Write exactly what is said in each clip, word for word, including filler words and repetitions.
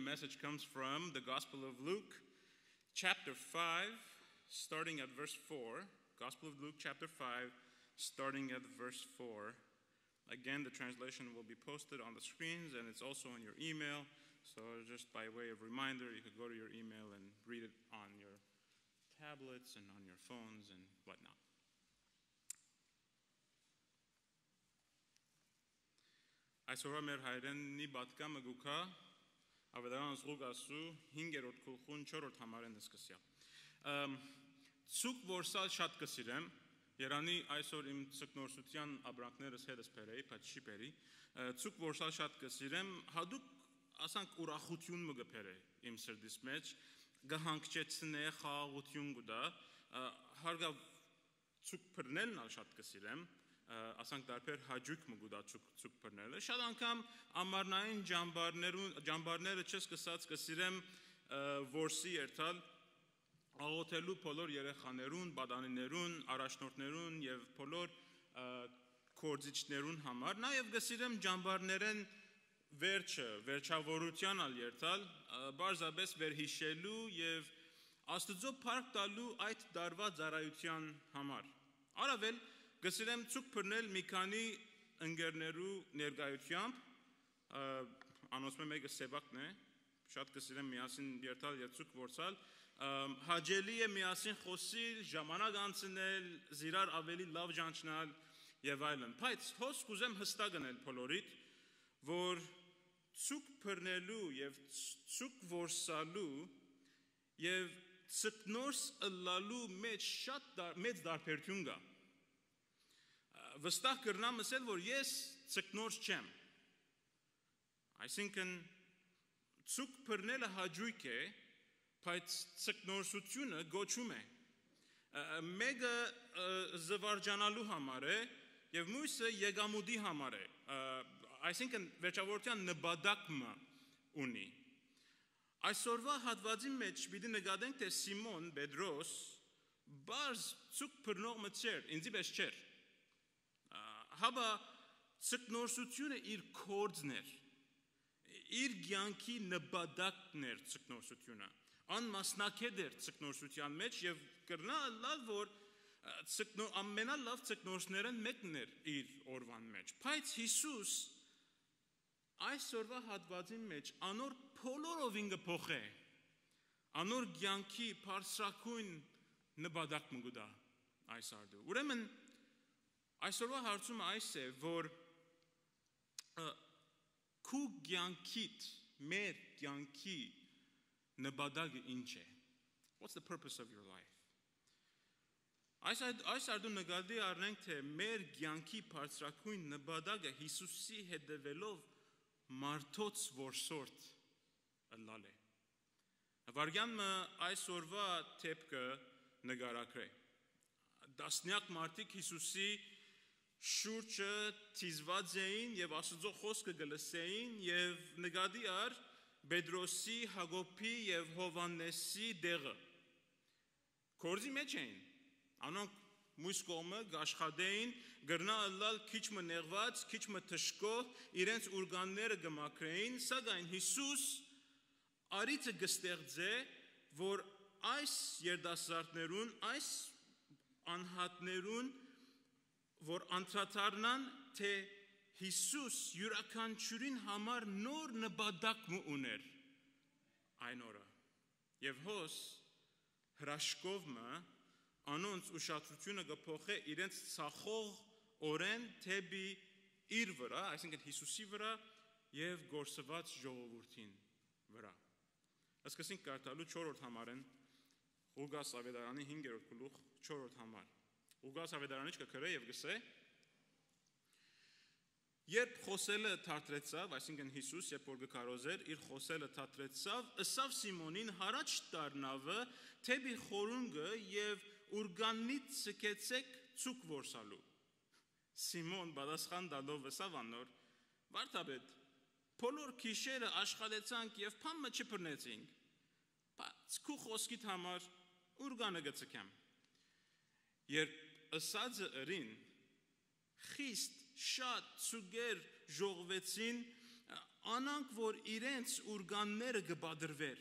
message comes from the Gospel of Luke, chapter five, starting at verse four. Gospel of Luke, chapter five, starting at verse four. Again, the translation will be posted on the screens, and it's also in your email. So, just by way of reminder, you could go to your email and read it on your tablets and on your phones and whatnot. Այսօրվա մեր հայրենի պատգամը գուքա Ավետարան Ղուկասու հինգերորդ գլխուն չորրորդ համարէն սկսեալ։ Ամ, Ցուկ որսալ շատ կը սիրեմ, երանի այսօր իմ ցկնորսութեան ապրանքներս հետս բերեի, բայց չի բերի։ Ա, ցուկ որսալ շատ կը սիրեմ, հատուկ, ասանք, ուրախութիւն մը կը բերէ իմ սրտիս մէջ, կը հանգչեցնէ, խաղաղութիւն կու տայ, ա, հարգաւ ցուկ բռնելն ալ շատ կը սիրեմ, ա, ասանք, տարբեր հաճոյք մը կու տայ ցուկ, ցուկ բռնելը։ Շատ անգամ ամառնային ջամբարներուն, ջամբարները չսկսած կը սիրեմ, ա, որսի երթալ, աղոթելու բոլոր երեխաներուն, պատանիներուն, առաջնորդներուն եւ բոլոր, ա, գործիչներուն համար։ Նաեւ կը սիրեմ ջամբարներէն վերջը, վերջաւորութեան ալ երթալ, ա, պարզապէս վերհիշելու եւ Աստուծոյ փառք տալու այդ տարուայ ծառայութեան համար։ Առաւել կը սիրեմ ցուկ բռնել մի քանի ընկերներու ներկայութեամբ, ա, անոնցմէ մէկը Սեբակն է, շատ կը սիրեմ միասին երթալ եւ ցուկ որսալ, ա, հաճելի է միասին խօսիլ, ժամանակ անցնել, զիրար աւելի լաւ ճանչնալ եւ այլն։ Բայց հոս կ'ուզեմ յստակ ընել բոլորիդ, որ ցուկ բռնելու եւ ց-, ցուկ որսալու եւ ցկնորս ըլլալու մէջ շատ դար-, մեծ տարբերութիւն կայ։ Ա, վստահ կրնամ ըսել, որ ես ցկնորս չեմ։ Այսինքն, ցուկ բռնելը հաճոյք է, բայց ցկնորսութիւնը կոչում է։ Ա, մէկը, ա, զուարճանալու համար է եւ մոյսը եկամուտի համար է։ Ա, այսինքն, վերջաւորութեան նպատակ մը ունի։ Այսօրվա հատուածին մէջ պիտի նկատենք, թէ Սիմոն Պետրոս պարզ ցուկ բռնող մը չէր, ինծի պէս չէր։ Ա, հապա ցկնորսութիւնը իր կորձն էր, իր կեանքի նպատակն էր ցկնորսութիւնը, անմասնակէտ էր ցկնորսութեան մէջ եւ կրնայ ըլլալ, որ, ա, ցկնո-, ամենալաւ ցկնորսներէն մէկն էր իր օրուան մէջ։ Բայց Յիսուս այսօրվա հատուածին մէջ անոր բոլորովին կը փոխէ, անոր կեանքի բարձրագոյն նպատակ մը կու տայ այս արդու։ Ուրեմն, այսօրվա հարցումը այս է, որ, ը, քու կեանքիդ, մեր կեանքի նպատակը ինչ է։ What's the purpose of your life? Այս այդ, այս արդու նկատի առնենք, թէ մեր կեանքի բարձրագոյն նպատակը Յիսուսի հետեւելով մարդոց որսորդ ըլլալ է։ Վարքեան մը այսօրվա դէպքը նկարագրէ։ Տասնեակ մարդիկ Յիսուսի շուրջը դիզուած էին եւ Աստուծոյ խօսքը կը լսէին եւ նկատի առ Պետրոսի, Յակոբի եւ Յովհաննէսի տեղը։ Կորձի մէջ էին։ Անոնք մոյս կողմը կ'աշխատէին, կրնայ ըլլալ քիչ մը նեղուած, քիչ մը դժգոհ, իրենց ուրկանները կը մաքրէին, սակայն Յիսուս արիցը կը ստեղծէ, որ այս երիտասարդներուն, այս անհատներուն, որ անդրադառնան, թէ Յիսուս իւրաքանչիւրին համար նոր նպատակ մը ունէր այն օրը։ Եւ հոս հրաշքով մը անոնց ուշադրութիւնը կը փոխէ իրենց ցախող օրէն դէպի իր վրայ, այսինքն Յիսուսի վրայ եւ կորսուած ժողովուրդին վրայ։ Սկսենք կարդալու չորրորդ համարէն, Ղուկաս Աւետարանի հինգերորդ գլուխ, չորրորդ համար։ Ղուկաս Աւետարանի կը գրէ եւ կ'ըսէ. Երբ խօսելը դադրեցաւ, այսինքն Յիսուս, երբ որ կը քարոզէր, իր խօսելը դադրեցաւ, ըսաւ Սիմոնին. «Յառաջ դառնաւը դէպի խորունկը եւ ուրկաննիդ սկեցէք ցուկ որսալու»։ Սիմոն պատասխան տալով ըսաւ անոր. «Վարդապետ, բոլոր գիշերը աշխատեցանք եւ բան մը չբռնեցինք, բայց քու խօսքիդ համար ուրկանը կը ցկեմ»։ Երբ ըսածը ըրին, խիստ շատ ցուկեր ժողվեցին, անոնք որ իրենց ուրկանները կը պատրուէր,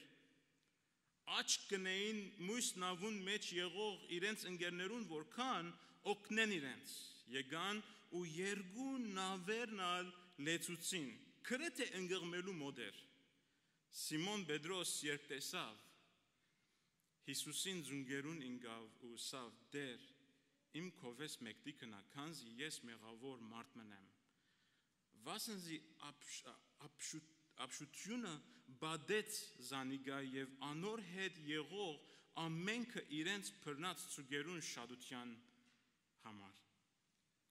աչք կ'ընէին մոյս նաւուն մէջ եղող իրենց ընկերներուն, որ կան օգնեն իրենց։ Եկան ու երկու նաւերն ալ լեցուցին, գրեթէ ընկղմելու մօտ էր։ Սիմոն Պետրոս երբ տեսաւ Յիսուսին, զունկերուն ինկաւ ու ըսաւ. «Տէր, իմ քովէս մեկդի գնայ, քանզի ես մեղաւոր մարդ մըն եմ»։ Վասն զի ապշ-, ապշու-, ապշութիւնը պատեց զանիկա եւ անոր հետ եղող ամենքը իրենց բռնած ծուկերուն շատութեան համար։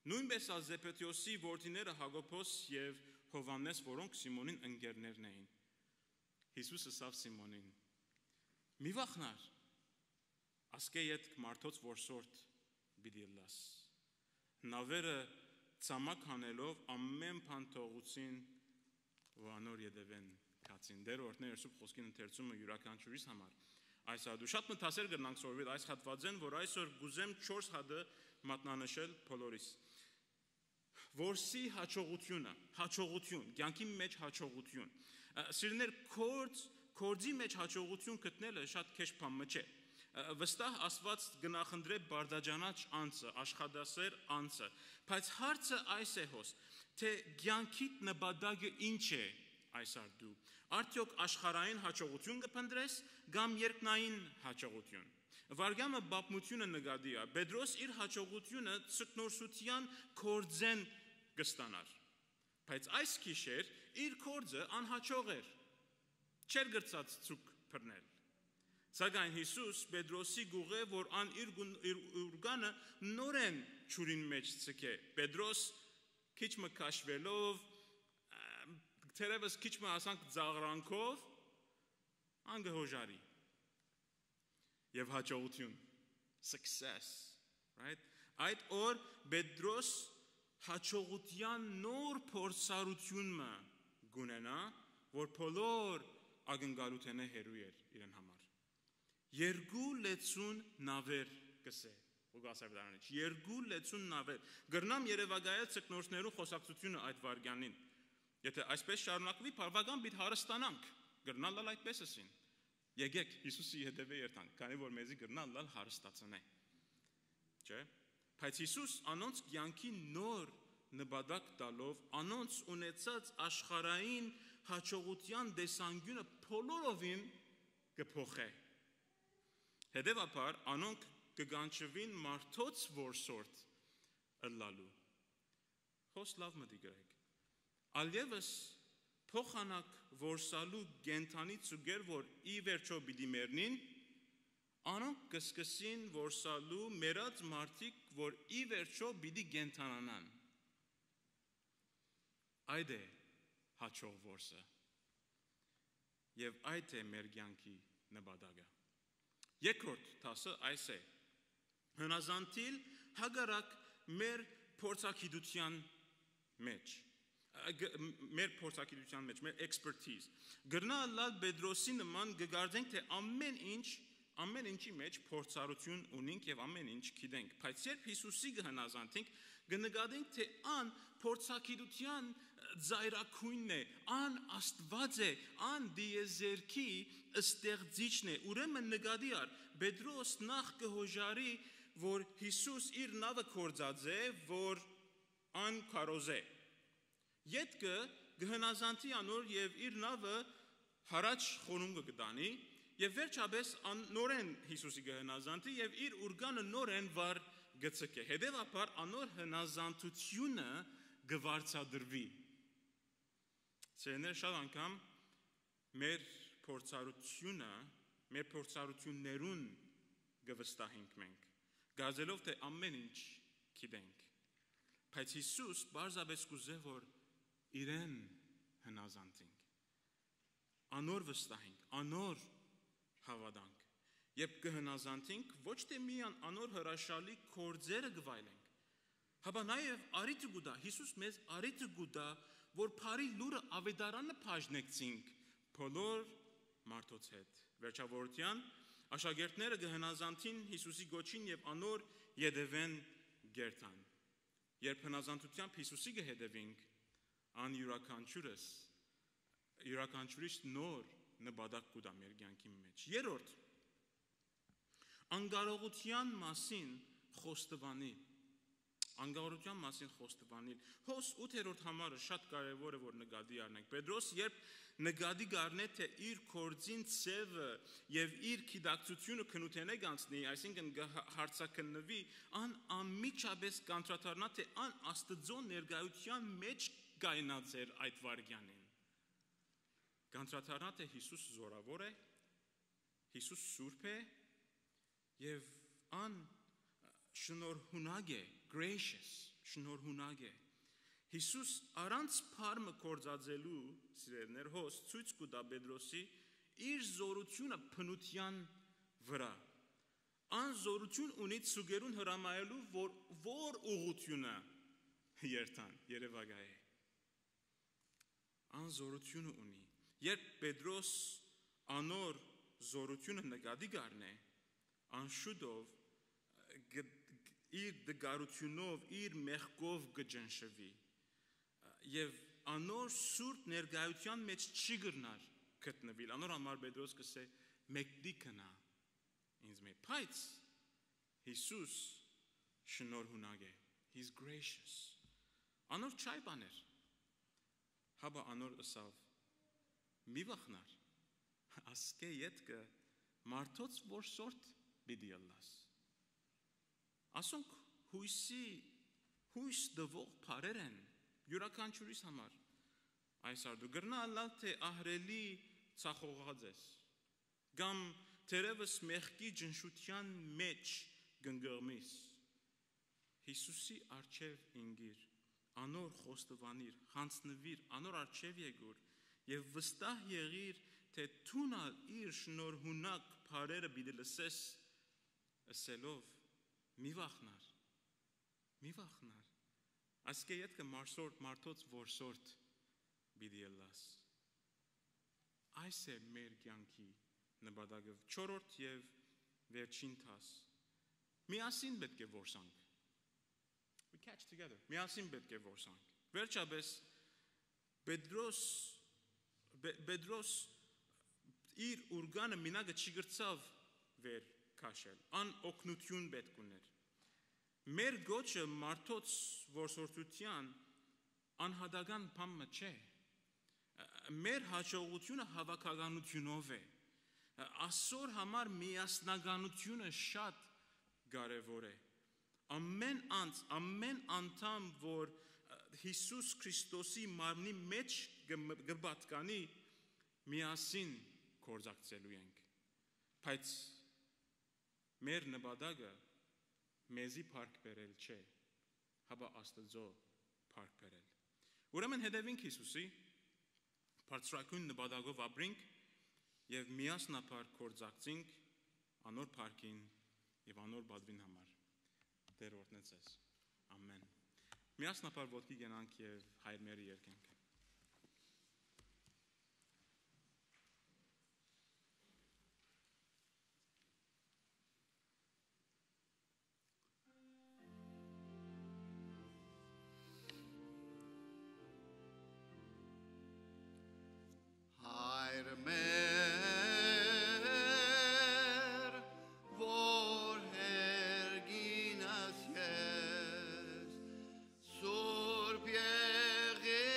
Նոյնպէս ալ Զեբեդէոսի որդիները Յակոբոս եւ Յովհաննէս, որոնք Սիմոնին ընկերներն էին։ Յիսուս ըսաւ Սիմոնին. «Մի վախնար, ասկէ ետք մարդոց որսորդ պիտի ըլլաս»։ Նաւերը ցամաք հանելով, ամէն բան թողուցին ու անոր ետեւէն գացին։ Տէր օրհնէ Սուրբ Խօսքին ընթերցումը իւրաքանչիւրիս համար այս հատու։ Շատ մը դասեր կրնանք սորվել այս հատուածէն, որ այսօր կ'ուզեմ չորս հատը մատնանշել բոլորիս։ Որսի յաջողութիւնը, յաջողութիւն, կեանքի մէջ յաջողութիւն։ Ը, սիրներ, գործ, գործի մէջ յաջողութիւն գտնելը շատ քեշ բան մը չէ։ Ը, վստահ Աստուած կը նախընտրէ բարդաճանաչ անձը, աշխատասեր անձը, բայց հարցը այս է հոս, թէ կեանքիդ նպատակը ինչ է այս արդու։ Արդեօք աշխարհային յաջողութիւն կը փնտրես կամ երկնային յաջողութիւն։ Վարկյանը պատմութիւնը նկատի է։ Պետրոս իր յաջողութիւնը ձկնորսութեան գործէն կը ստանար։ Բայց այս գիշեր իր գործը անյաջող էր։ Չէր կրցած ձուկ բռնել։ Սակայն Յիսուս Պետրոսի կ'ուղղէ, որ ան իր գուն-, իր ուրկանը նորէն ջուրին մէջ ձգէ։ Պետրոս քիչ մը քաշուելով, ա, թերեւս քիչ մը, ասանք, ծաղրանքով, ան կը յոժարի։ Եւ յաջողութիւն, success, right? Այդ օր Պետրոս յաջողութեան նոր փորձառութիւն մը կ'ունենայ, որ բոլոր ակնկալութենէ հեռու էր իրեն համար։ «Երկու լեցուն նաւեր», կ'ըսէ Ղուկաս Աւետարանիչ, «երկու լեցուն նաւեր»։ Կրնամ երեւակայել ձկնորսներու խօսակցութիւնը այդ վայրկեանին։ Եթէ այսպես շարունակուի, բավական պիտի հարստանանք։ Կրնալ ալ այդպես ըսին. «Եկէք, Յիսուսի ետեւէ երթանք, քանի որ մեզի կրնալ ալ հարստացնէ»։ Չէ՞։ Բայց Յիսուս անոնց կեանքի նոր նպատակ տալով, անոնց ունեցած աշխարհային յաջողութեան տեսանկիւնը բոլորովին կը փոխէ։ Հետեւաբար անոնք կը կանչուին մարդոց որսորդ ըլլալու։ Հոս լաւ մտիկ ըրեք։ Ալեւս փոխանակ որսալու կենդանի ծուկեր, որ ի վերջոյ պիտի մեռնին, անոնք կը սկսին որսալու մեռած մարդիկ, որ ի վերջոյ պիտի կենդանանան։ Այդ է յաջող որսը։ Եւ այդ է մեր կեանքի նպատակը։ Երկրորդ դասը այս է. հնազանդիլ հակառակ մեր փորձագիտութեան մէջ, ը, գ-, մ-, մեր փորձագիտութեան մէջ, մեր expertise։ Կրնայ ըլլալ Պետրոսի նման, կը կարծենք, թէ ամէն ինչ, ամէն ինչի մէջ փորձառութիւն ունինք եւ ամէն ինչ գիտենք, բայց երբ Յիսուսի կը հնազանդենք, կը նկատենք, թէ ան փորձագիտութեան ծայրագոյնն է, ան Աստուած է, ան տիեզերքի ստեղծիչն է։ Ուրեմն նկատի առ, Պետրոս նախ կը յոժարի, որ Յիսուս իր նաւը գործած է, որ ան քարոզէ։ Ետքը կը հնազանդի անոր եւ իր նաւը յառաջ խորունկը կը տանի, եւ վերջապէս ան նորէն Յիսուսի կը հնազանդի եւ իր ուրկանը նորէն վար կը ձգէ։ Հետեւաբար անոր հնազանդութիւնը կը վարձատրուի։ Սիրելիներ, շատ անգամ մեր փորձառութիւնը, մեր փորձառութիւններուն կը վստահենք մենք, կարծելով թէ ամէն ինչ գիտենք։ Բայց Յիսուս պարզապէս կ'ուզէ, որ իրեն հնազանդենք, անոր վստահենք, անոր հաւատանք։ Երբ կը հնազանդենք, ոչ թէ միայն անոր հրաշալի գործերը կը վայելենք, հապա նաեւ առիթը կու տայ, Յիսուս մեզ առիթը կու տայ, որ բարի լուրը, աւետարանը բաժնեկցինք բոլոր մարդոց հետ։ Վերջավորութեան, աշակերտները կը հնազանդին Յիսուսի կոչին եւ անոր ետեւէն կ'երթան։ Երբ հնազանդութեամբ Յիսուսի կը հետեւինք, ան իւրաքանչիւրս յուրաքանչիւրիս նոր նպատակ կու տայ մեր կեանքին մէջ։ Երրորդ, անկարողութեան մասին խոստովանիլ։ Անկարողութեան մասին խոստովանիլ։ Հոս ութերորդ համարը շատ կարեւոր է, որ նկատի առնենք։ Պետրոս երբ նկատի կ'առնէ, թէ իր գործին ձեւը եւ իր գիտակցութիւնը քննութենէ կ'անցնի, այսինքն՝ կը հա-, հարցաքննուի, ան անմիջապէս կ'անդրադառնայ, թէ ան Աստուծոյ ներկայութեան մէջ կայնած էր այդ վայրկեանին։ Կ'անդրադառնայ, թէ Յիսուս զօրաւոր է, Յիսուս սուրբ է եւ ան շնորհունակ է, gracious, շնորհունակ է։ Յիսուս առանց բար մը գործածելու, սիրելիներ, հոս ցոյց կու տայ Պետրոսի իր զօրութիւնը բնութեան վրայ։ Ան զօրութիւն ունի ձուկերուն հրամայելու, որ, որ ուղղութիւնը երթան, երեւակայ է։ Ան զօրութիւնը ունի։ Երբ Պետրոս անոր զօրութիւնը նկատի կ'առնէ, ան շուտով գ-, գ-, իր տկարութիւնով, իր մեղքով կը ճնշուի եւ անոր սուրբ ներկայութեան մէջ չի կրնար գտնուիլ։ Անոր համար Պետրոս կ'ըսէ. «Մեկդի գնա ինձմէ»։ Բայց Յիսուս շնորհունակ է, he's gracious։ Անոր չայ բաներ, հապա անոր ըսաւ. «Մի վախնար, ասկէ ետքը մարդոց որսորդ պիտի ըլլաս»։ Ասոնք յոյսի, յոյս տուող բառեր են յուրաքանչիւրիս համար։ Այս արդու կրնայ ըլլալ, թէ ահռելի ծախողած ես, կամ թերեւս մեղքի ճնշութեան մէջ կ'ընկղմիս։ Յիսուսի առջեւ ինկիր, անոր խոստովանիր, յանձնուիր, անոր առջեւ եկուր եւ վստահ եղիր, թէ դուն ալ իր շնորհունակ բառերը պիտի լսես, ըսելով. «Մի վախնար, մի վախնար, ասկէ ետքը մարսորդ, մարդոց որսորդ պիտի ըլլաս»։ Այս է մեր կեանքի նպատակը։ Չորրորդ եւ վերջին դաս։ Միասին պէտք է որսանք։ We catch together. Միասին պէտք է որսանք։ Վերջապէս, Պետրոս, Պե-, Պետրոս իր ուրկանը մինակը չի կրցաւ վեր քաշել։ Ան օգնութիւն պէտք ուներ։ Մեր կոչը մարդոց որսորդութեան անհատական բան մը չէ։ Մեր յաջողութիւնը հաւաքականութիւնով է։ Ասոր համար միասնականութիւնը շատ կարեւոր է։ Ամեն անձ, ամեն անդամ, որ Յիսուս Քրիստոսի մարմնի մէջ կը, կը պատկանի, միասին գործակցելու ենք։ Բայց մեր նպատակը մեզի փառք բերել չէ, հապա Աստուծոյ փառք բերել։ Ուրեմն հետևինք Յիսուսի, բարձրագոյն նպատակով ապրինք եւ միասնաբար գործակցինք անոր փառքին եւ անոր պատուին համար։ Տէր օրհնեցես։ Ամեն։ Միասնաբար ոտքի կենանք եւ Հայր մերը երկենք։ Հայր մեր, որ հերգինս ես, Սուրբ Եղի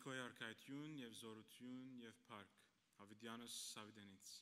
Քոյ արքայութիւն եւ զօրութիւն եւ փառք յաւիտեանս յաւիտենից։